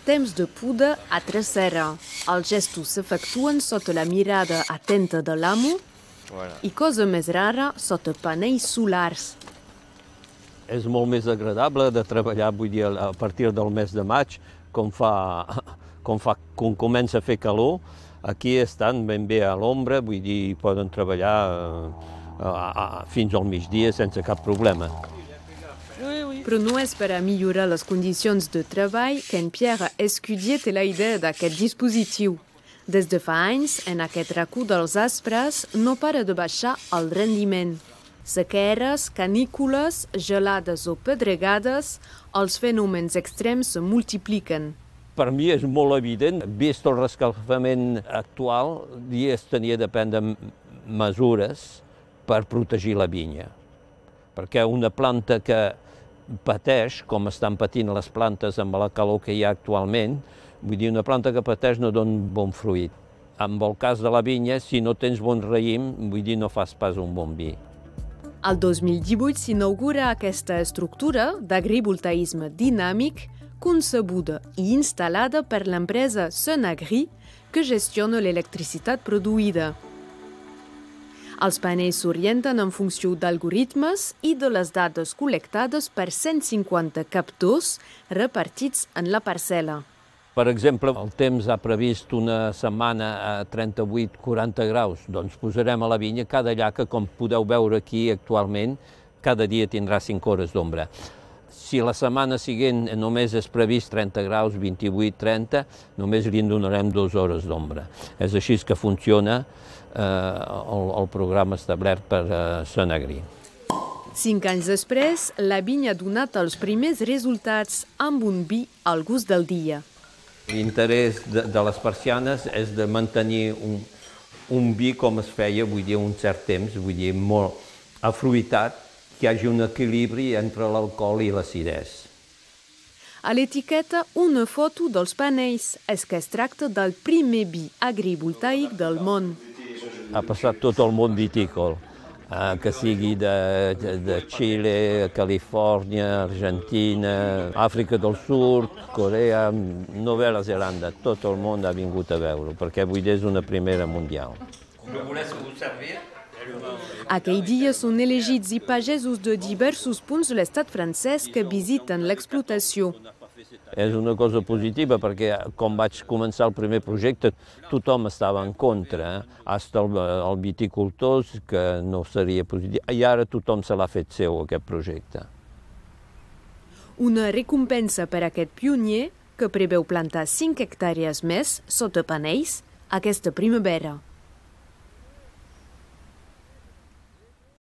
temps de poda a trecera. Els gestos s'efectuen sota la mirada atenta de l'amo i, cosa més rara, sota panells solars. És molt més agradable de treballar, vull dir, a partir del mes de maig, quan comença a fer calor. Aquí estan ben bé a l'ombra, vull dir, poden treballar fins al migdia sense cap problema. Però no és per a millorar les condicions de treball que en Pierre Escudier té la idea d'aquest dispositiu. Des de fa anys, en aquest racó dels Aspres no para de baixar el rendiment. Sequeres, canícules, gelades o pedregades, els fenòmens extrems se multipliquen. Per mi és molt evident, vist el rescalfament actual, es tenia de prendre mesures per protegir la vinya. Perquè una planta que pateix, com estan patint les plantes amb la calor que hi ha actualment, vull dir, una planta que pateix no dona bon fruit. En el cas de la vinya, si no tens bon raïm, vull dir, no fas pas un bon vi. El 2018 s'inaugura aquesta estructura d'agrivoltaïsme dinàmic concebuda i instal·lada per l'empresa Sunagri, que gestiona l'electricitat produïda. Els panells s'orienten en funció d'algoritmes i de les dades col·lectades per 150 captors repartits en la parcel·la. Per exemple, el temps ha previst una setmana a 38-40 graus. Doncs posarem a la vinya cada llaca, com podeu veure aquí actualment, cada dia tindrà 5 hores d'ombra. Si la setmana següent només és previst 30 graus, 28-30, només li donarem 2 hores d'ombra. És així que funciona el programa establert per Sunagri. 5 anys després, la vinya ha donat els primers resultats amb un vi al gust del dia. L'interès de les persianes és de mantenir un vi com es feia, vull dir, un cert temps, vull dir, molt afruitat, que hi hagi un equilibri entre l'alcohol i l'acidesa. A l'etiqueta, una foto dels panells. És que es tracta del primer vi agrivoltaic del món. Ha passat tot el món vitícola, que sigui de Xile, Califòrnia, Argentina, Àfrica del Sud, Corea, Nova Zelanda. Tot el món ha vingut a veure, perquè avui és una primera mundial. Aquell dia són elegits i pagesos de diversos punts de l'estat francès que visiten l'explotació. És una cosa positiva perquè quan vaig començar el primer projecte tothom estava en contra, fins els viticultors, que no seria positiu, i ara tothom se l'ha fet seu, aquest projecte. Una recompensa per a aquest pioner que preveu plantar 5 hectàrees més sota panells aquesta primavera.